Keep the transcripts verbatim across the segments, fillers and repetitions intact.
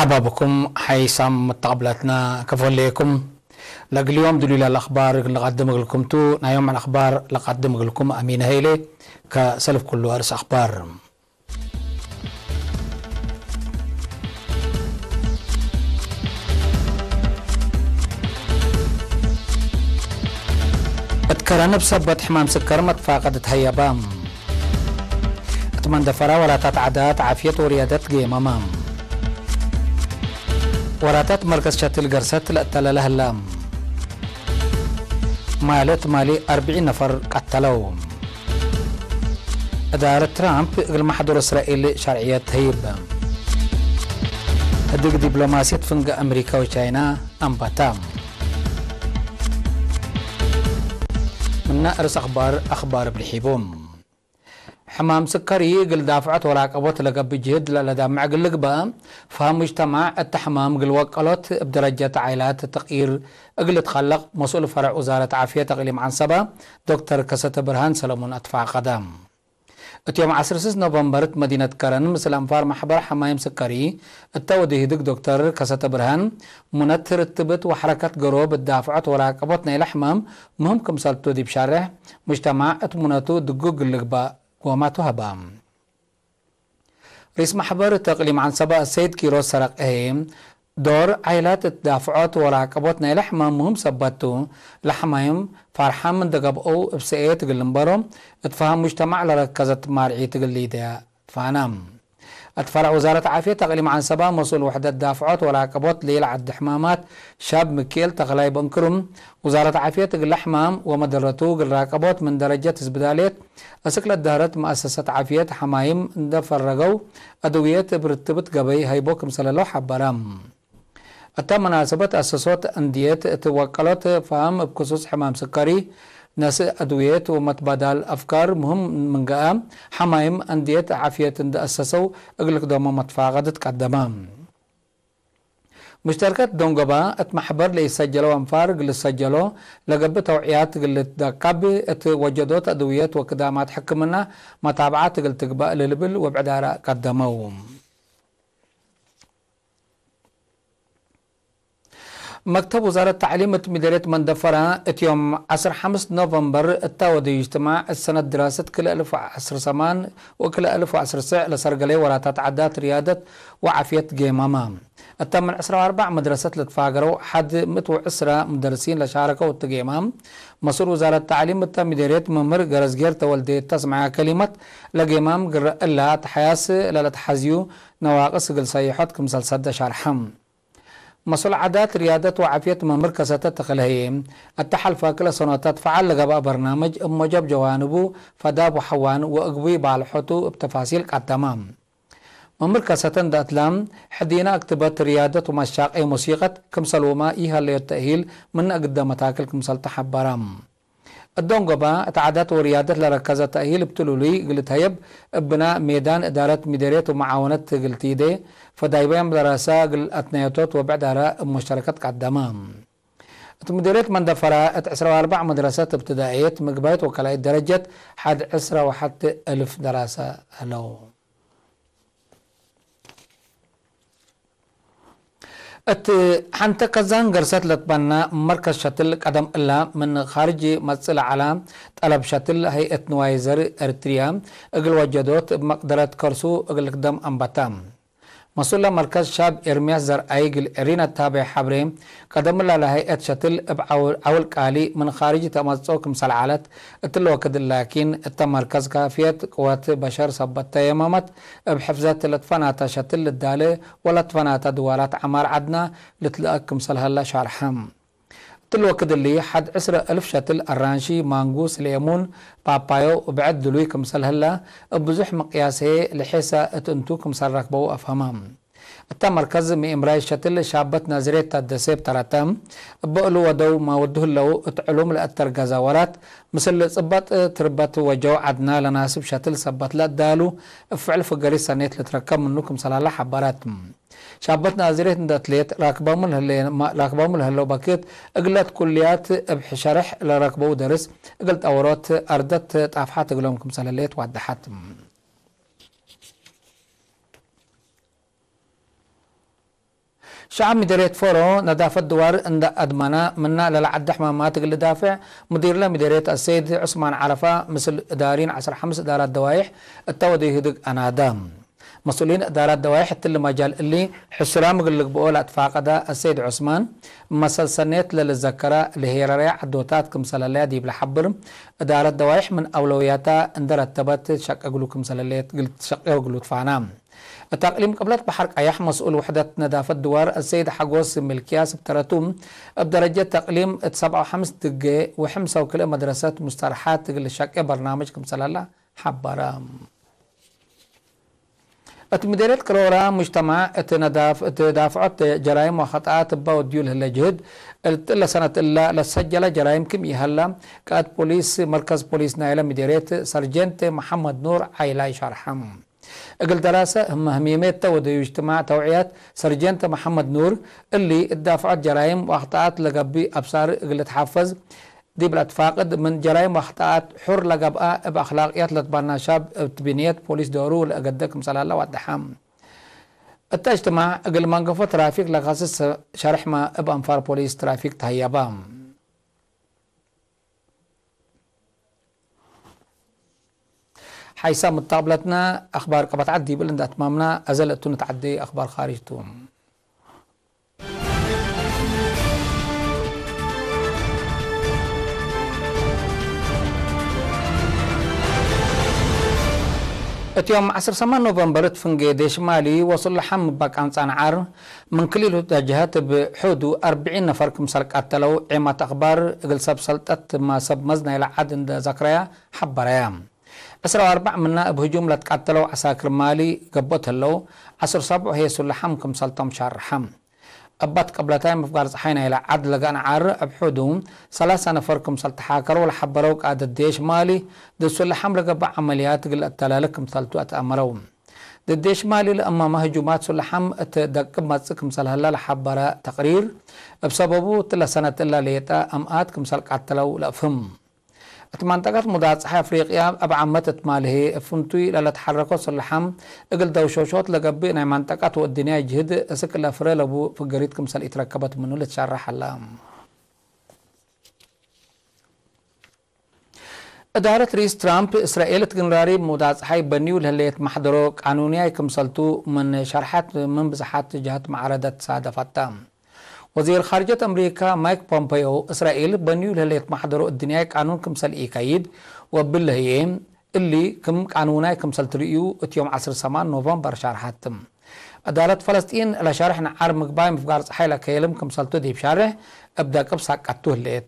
ሸባብኩም ሐይሳም መተቀብላትና ከፎ ህሌኩም። ለእግል ዮም ድሉይ ለአለ አኽባር እግል ንቀድም እግልኩም ቱ። ናይ ዮም አኽባር ለቀድም እግልኩም አሚን ሀይሌ። ከሰልፍ ኩሉ አርእስ አኽባር። እት ከረን እብ ሰበት ሕማም ስከር መትፋቀድ ተሀየበ። እት መንደፈራ ወላታት ዓዳት ዓፍየት ወርያደት ጌመመ። ወላታት መርከዝ ሸትል ገርሰት ለእተለለ ህለ። ማሊ እት ማሊ አርብዒን ነፈር ቀተለው። እዳረት ትራምፕ እግል መሕዱር እስራኤል ሸርዕየት ተህይብ። ህድግ ዲፕሎማሲየት ፍንገ አምሪካ ወቻይና አንበታ። ምነ አርእስ አኽባር፣ አኽባር እብ ልሒቡ። ሕማም ስከሪ እግል ዳፍዖት ወላቀቦት ለገብእ ጅህድ ለለዳምዕ እግል ልግበእ፣ ፈሀም ሙጅተማዕ እተ ሕማም እግል ወቀሎት እብ ደረጀት ዓይላት ተቅይር እግል ልትከለቅ መስኡል ፈረዕ ውዛረት ዓፍየት አቅሊም ዐንሰበ ዶክተር ከሰተ ብርሃን ሰለሙን አትፋቀደ። እት ዮም ዐስር ስስ ኖቨምበር እት መዲነት ከረን ምስል አንፋር መሕበር ሐማይም ስከሪ እተ ወድህድግ ዶክተር ከሰተ ብርሃን፣ ሙነት ርትብት ወሐረከት ገሮብ እት ዳፍዖት ወላቀቦት ናይለ ሕማም ምህም ክምሰልቱ ዲብ ሻሬሕ ሙጅተማዕ እት ሙነቱ ድጉ እግል ልግበእ ጎማቱ ሀበ። ርኢስ መሕበር እት እቅሊም ዐንሰበ አሰይድ ኪሮስ ሰረቅ ህዬ፣ ዶር ዓይላት እት ዳፍዖት ወላቀቦት ናይለ ሕማም ምህም ሰበት ቱ። ለሐማይም ፋርሓም እንደ ገብአው እብ ሰእየት እግል ልንበሮ፣ እት ፈሀም ሙጅተማዕ ለረከዘት ማርዒት እግል ሊደያ ትፋና። እት ፈረዕ ውዛረት ዓፍየት አቅሊም ዐንሰበ መስኡል ውሕደት ዳፍዖት ወላቀቦት ሌላ ዐዲ ሕማማት ሻብ ምክኤል ተክላይ በንክሩም፣ ውዛረት ዓፍየት እግለ ሕማም ወመደረቱ እግል ራቀቦት ምን ደረጀት እስብዳልየት አስክ ለደህረት መአሰሰት ዓፍየት ሐማይም እንደ ፈረገው አድውየት እብ ርትብት ገበይ ሀይቦ ክምሰለ ለው ሐበረ። እተ መናሰበት አሰሶት አንድየት እት ወቀሎት ፈሀም እብ ክሱስ ሕማም ስከሪ፣ ነስእ አድውየት ወመትባዳል አፍካር ምህም ምን ገአ፣ ሐማይም አንድየት ዓፍየት እንደ አሰሰው እግል ክደሞ መትፋቀድት ቀደመ። ሙሽተርከት ዶንጎባ እት መሕበር ለኢሰጀለው አንፋር እግል ልሰጀሎ ለገብእ ተውዕያት እግል ልትደቀብ፣ እት ወጀዶት አድውየት ወክዳማት ሕክምና መታብዓት እግል ትግበእ ለልብል ወብዕድ አራእ ቀደመው። መክተብ ውዛረት ተዕሊም እት ሚደርየት መንደፈራ እት ዮም ዐስር ሐምስ ኖቨምበር እተ ወድዩ እጅትማዕ እት ሰነት ድራሰት ክልኤ አልፍ ወዐስር ሰማን ወክልኤ አልፍ ወዐስር ስዕ ለሰርገለየ ወላታት ዓዳት ርያደት ወዓፍየት ጌማመ። እተ ምን ዕስራ ወአርበዕ መድረሰት ለትፋገረው ሐድ ምእት ወዕስራ ሙደርሲን ለሻረከው እት ጌማም፣ መስኡል ውዛረት ተዕሊም እተ ሚደርየት መምህር ገረዝጌር ተወልዴ እተ አስመዐ ከሊመት፣ ለጌማም ግረ እላ ተሐያስ ለለትሐዝዩ ነዋቅስ እግል ሰይሖት ክምሰል ሰደ ሸርሐ። መስኡል ዓዳት፣ ርያደት ወዓፍየት መምህር ከሰተ ተክለ ህዬ፣ እተ ሐልፈ ክልኤ ሰኖታት ፈዓል ለገብአ በርናምጅ እብ ሞጀብ ጀዋንቡ ፈዳብ ወሐዋን ወእግቡይ ባልሖቱ እብ ተፋሲል ቀደመ። መምህር ከሰተ እንደ እትለ፣ ሕዲነ አክትበት ርያደት ወመሻቄ ሙሲቀት ክምሰልሁመ ኢሀለዮት ተእሂል ምነ እግደ መታክል ክምሰል ተሐበረ። እዶንጎባ እት ዓዳት ወርያደት ለረከዘ ተእሂል እብ ትሉሉይ እግል ልትሀየብ፣ እብ ብናእ ሜዳን እዳረት ሚደርየት ወመዓወነት እግል ቲዴ፣ ፈዳይባይ መደረሰ እግል አትነየቶት ወብዕድ አራእ እብ ሙሽተረከት ቀደመ። እት ሚደርየት መንደፈራ እት ዕስራ ወአርበዕ መድረሰት እብትዳእየት ምግባይት ወከላኢት ደረጀት ሐድ ዕስራ ወሐቴ እልፍ ደራሰ ዐለው። እት ሐንተ ከዛን ገርሰት ለትበና መርከዝ ሸትል ቀደም እላ ምን ካርጅ መጽእ ለዐላ ጠለብ ሸትል ሀይአት ንዋይ ዘር ኤረትርያ እግል ወጀዶት እብ መቅደረት ከርሱ እግል ልክደም አንበታ። መስኡል ለመርከዝ ሻብ ኤርምያስ ዘርአይ እግል ኤሪና እት ሀበየ ሐብሬ፣ ቀደም እላ ለሀይአት ሸትል እብ ዐውል ቃሊ ምን ካርጅ ተአመጽኦ ክምሰል ዐለት፣ እትለ ወክድ ላኪን እተ መርከዝ ካፍየት ቅወት በሸር ሰበት ተ የመመት፣ እብ ሕፍዘት ለትፈናተ ሸትል ልዳለ ወለትፈናተ ድዋላት ዐማር ዐድና ልትለአክ ክምሰል ሀለ ሻርሐ። እትለ ወክድ እሊ፣ ሐድ ዕስረ እልፍ ሸትል አራንሺ፣ ማንጉስ፣ ሌሙን፣ ፓፓዮ ብዕድ ድሉይ ክምሰል ህለ፣ እብ ብዙሕ ምቅያስ ህዬ ለሔሰ እት እንቱ ክምሰል ረክበው አፍሀመ። እተ መርከዝ ምእምራይ ሸትል ሻበት ናዝሬት ታደሴ እብ ተረተ፣ እበ እሉ ወደው ማወዱ ህለው እት ዕሉም ለአተርገዘ ወራት፣ ምስል ጽበጥ ትርበት ወጀው ዐድና ለናስብ ሸትል ሰበት ለአዳሉ፣ እብ ፍዕል ፍገሪት ሰኔት ልትረከብ ምኑ ክምሰል ሀለ ሐበረት። ሻበት ናዝሬት እንደ አትሌት ራክባሙ ለህለ-፣ ራክባሙ ለህለው በክት እግለት ኩልያት እብ ሸርሕ ለረክበው ደርስ እግል ጠወሮት አርደት ጣፍሓት እግሎም ክምሰል ህሌት ዋደሐት። ሸዐብ ምዴርየት ፎሮ ነዳፈት ድዋር እንደ አድመነ ምነ ለለዐደ ሕማማት እግል ልዳፍዕ፣ ሙዲርለ ምዴርየት አሰይድ ዑስማን ዐረፋ ምስል እዳሪን ዐስር ሐምስ እዳራት ደዋይሕ እተ ወደዩ ህድግ አናደ። መስኡሊን እዳራት ደዋይሕ እትሊ መጃል እሊ ሕሱራም እግል ልግብኦ ለአትፋቀደ አሰይድ ዑስማን፣ መሰል ሰኔት ለልዘከረ ለሄረርያ ዐዶታት ክምሰል ህለያ ዲብ ለሐብር፣ እዳረት ደዋይሕ ምን አውለውያታ እንደ ረተበት ትሸቄ እግሉ ክምሰል ህሌት እግል ትሸቄ እግሉ ትፋና። እት አቅሊም ቅብለት በሐር ቀያሕ መስኡል ውሕደት ነዳፈት ድዋር አሰይድ ሐጎስ ሚልክያስ እብ ተረቱ፣ እብ ደረጀት ተቅሊም እት ሰብዓ ወሐምስ ድጌ ወሕምሰው ክልኤ መድረሰት ሙስተርሓት እግል ልሸቄ በርናምጅ ክምሰል ሀላ ሐበረ። እት ምዴርየት ቅሮራ ሙጅተማዕ እት ነዳፍ-፣ እት ዳፍዖት ጀራይም ወኸጠኣት እበ ወድዩ ለህለ ጅህድ፣ እት እለ ሰነት እለ ለሰጀለ ጀራይም ክም ኢሀላ፣ ቃእድ ፖሊስ መርከዝ ፖሊስ ናይለ ምዴርየት ሰርጀንት መሐመድ ኑር ዓይላይ ሸርሐ። እግል ደራሰ ህመ ህሚሜት ተ ወደዩ እጅትማዕ ተውዕያት ሰርጀንት መሐመድ ኑር፣ እሊ እት ዳፍዖት ጀራይም ወአኽጠኣት ለገብእ አብሳር እግል ልትሐፈዝ፣ ዲብ ለአትፋቅድ ምን ጀራይም ወአኽጠኣት ሑር ለገብአ፣ እብ አክላቅያት ለትበና ሻብ እት ብንየት ፖሊስ ዶሩ ለአገደ ክምሰል ሀለ ወደሐ። እተ እጅትማዕ እግል መንገፎ ትራፊክ ለከስስ ሸርሕመ እብ አንፋር ፖሊስ ትራፊክ ተሀየበ። ሐይሳ ሙተቅብለትነ አክባር ቀበት ዐድ ዲብል እንደ አትማምና፣ አዘ ለእቱ ንትዐዴ አክባር ካርጅ ቱ። እት ዮም ዐስር ሰማን ኖቨምበር እት ፍንጌ ዴሽ ማሊ ወሱለሐም እበ ቃንጻ ነዓር ምን ክልኢቱ ጀሀት እብ ሑዱ አርብዒን ነፈር ክምሰል ቀተለው ዔማት አክባር እግል ሰብ ሰልጠት ማ ሰብ መዝ ናይለ ዐድ እንደ ዘክረያ ሐበረያ። ዕስራ ወአርበዕ ምነ እብ ህጁም ለትቀተለው ዐሳክር ማሊ ገብኦት ህለው፣ ዐስር ሰብዑ ህዬ ሱለሐም ክምሰልቶም ሻርሐ። እባት ቅብለታይ ምፍጋር ጸሓይ ናይለ ዐድ ለገአንዓር እብ ሑዱ ሰላሳ ነፈር ክምሰል ተሓከረው ለሐበረው ቃእደት ዴሽ ማሊ፣ ዲብ ሱለሐም ለገብእ ዐመልያት እግል ለአተላሌ ክምሰልቱ አትአመረው። ዲብ ዴሽ ማሊ ለእመመ ህጁማት ሱለሐም እት ደቅብ መጽእ ክምሰል ህለ ለሐበረ ተቅሪር፣ እብ ሰበቡ እትለ ሰነት እለ ሌጠ አምኣት ክምሰል ቀተለው ለአፍህም። እት መንጠቀት ሙዳት ጸሓይ አፍሪቅያ እብ ዓመት እት ማል ህዬ፣ እብ ፍንቱይ ለለትሐረኮ ሱለሐም እግል ደውሾሾት ለገብእ ናይ መንጠቀት ወእድንያይ ጅህድ እስክ ለፍሬ ለቡ ፍገሪት ክምሰል ኢትረከበት ምኑ ልትሸረሕ ሀለ። እዳረት ርኢስ ትራምፕ፣ እስራኤል እት ግንራሪ ሙዳት ጸሓይ በንዩ ለህሌት መሕደሮ ቃኑንያይ ክምሰልቱ ምን ሸርሐት፣ ምን ብዝሓት ጀሀት መዓረደት ሳደፈተ። ወዚር ኻርጀት አምሪካ ማይክ ፖምፔዮ፣ እስራኤል በንዩ ለህሌት መሕደሮ እድንያይ ቃኑን ክምሰል ኢከይድ ወእብለ ህዬ፣ እሊ ክም ቃኑናይ ክምሰል ትርእዩ እት ዮም ዐስር ሰማን ኖቨምበር ሻርሐት። እዳረት ፈለስጢን ለሸርሕ ነዓር ምግባይ ምፍጋር ጸሓይ ለከየልም ክምሰልቱ ዲብ ሻርሕ እብ ደቅብ ሳቀቱ ህሌት።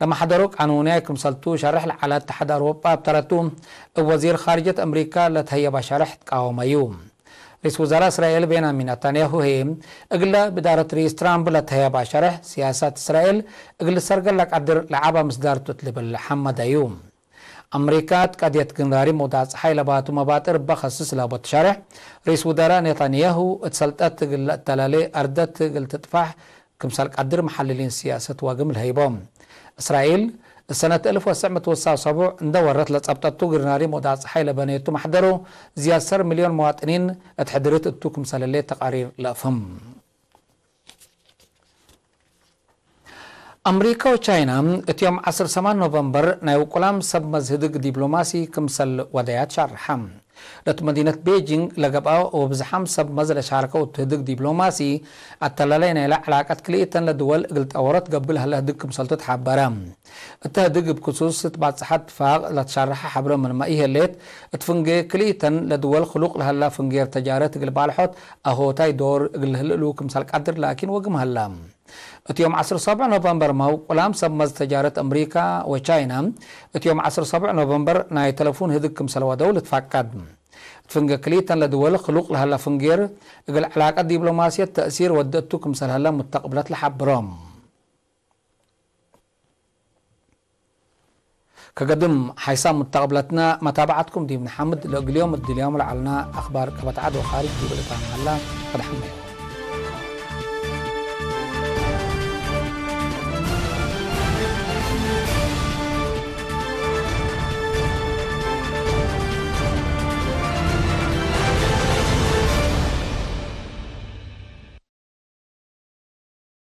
ለመሕደሮ ቃኑንያይ ክምሰልቱ ሸርሕ ለዐለ እተሓድ አውሮጳ እብ ተረቱ፣ እብ ወዚር ኻርጀት አምሪካ ለተህየበ ሸርሕ ትቃወመዩ። ርኢስ ውዘራእ እስራኤል ቤንያሚን ነታንያሁ ህዬ፣ እግለ እብ እዳረት ርኢስ ትራምፕ ለተህየበ ሸርሕ፣ ሲያሰት እስራኤል እግል ልሰርገል ለቀድር ለዐበ ምስዳር ቱ እት ልብል ሐመደዩ። አምሪካ እት ቀድየት ግንራሪ ሙዳት ጸሓይ ለባቱ መባጥር እበ ከስስ ለቦት ሸርሕ፣ ርኢስ ውዘራእ ኔታንያሁ እት ሰልጠት እግል ለአተላሌ አርደት እግል ትጥፋሕ ክምሰል ቀድር መሐልሊን ሲያሰት ወግም ለሀይቦም። እስራኤል፣ እት ሰነት እልፍ ወትሰዕ ምእት ወሰብዓ ወሰቡዕ እንደ ወረት ለጸብጠቱ ግርናሪ ሞዳት ጸሓይ ለበኔቱ መሕደሩ፣ ዝያድ ሰር ሚልዮን መዋጥኒን እት ሕድርት እቱ ክምሰል ህሌት ተቃሪር ለአፍህም። አምሪካ ወቻይና፣ እት ዮም ዐስር ሰማን ኖቨምበር ናይ ውቁላም ሰብ መዝ ህድግ ዲብሎማሲ ክምሰል ወደያት ሻርሐ። ለቱ መዲነት ቤጂንግ ለገብአ ወብዝሓም ሰብ መዝ ለሻርከው እቱ ህድግ ዲብሎማሲ፣ አተላላይ ናይለ ዕላቀት ክልኢተን ለድወል እግል ጠወረት ገብእ ለህለ ህድግ ክምሰልቱ ተሓበረ። እተ ህድግ እብ ክሱስ እት ባጽሐት ትፋቅ ለትሻርሐ ሐብረ ምንመ ኢህሌት፣ እት ፍንጌ ክልኢተን ለድወል ክሉቅ ለህላ ፍንጌር ተጃረት እግል ባልሖት አሆታይ ዶር እግል ልህልእሉ ክምሰል ቀድር ላኪን ወግም ሀላ። እት ዮም ዐስር ሰብዕ ኖቨምበር መውቁላም ሰብ መዝ ተጃረት አምሪካ ወቻይና፣ እት ዮም ዐስር ሰብዕ ኖቨምበር ናይ ተለፉን ህድግ ክምሰል ወደው ልትፋቀድ። እት ፍንጌ ክልኢተን ለድወል ክሉቅ ለሀለ ፍንጌር፣ እግል ዕላቀት ዲብሎማስየት ተእሲር ወደ እቱ ክምሰል ሀለ ሙተቅብለት ለሐብሮም። ከገድም ሓይሳም ሙተቅብለትነ መታብዐትኩም ዲብ ነሐምድ፣ ለእግልዮም እድልዮም ለዐልነ አክባር ቀበት ዐድ ወካርጅ ዲብ ልታም ሀላ። ፈድሐመ።